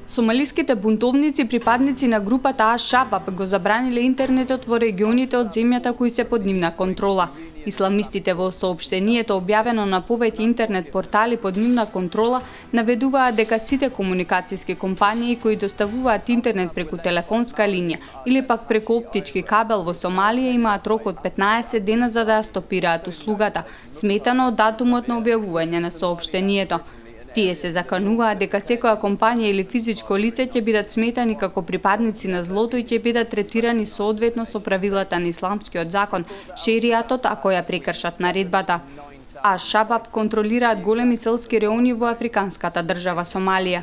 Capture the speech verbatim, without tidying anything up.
Сомалиските бунтовници, припадници на групата Аш-Шабаб, го забраниле интернетот во регионите од земјата кои се под нивна контрола. Исламистите во соопштението објавено на повеќе интернет портали под нивна контрола наведуваат дека сите комуникацијски компании кои доставуваат интернет преку телефонска линија или пак преку оптички кабел во Сомалија имаат рок од петнаесет дена за да ја стопираат услугата, сметано од датумот на објавување на соопштението. Тие се закануваат дека секоја компанија или физичко лице ќе бидат сметани како припадници на злото и ќе бидат третирани соодветно со правилата на исламскиот закон, шеријатот, ако ја прекршат наредбата. Аш-Шабаб контролираат големи селски реони во африканската држава Сомалија.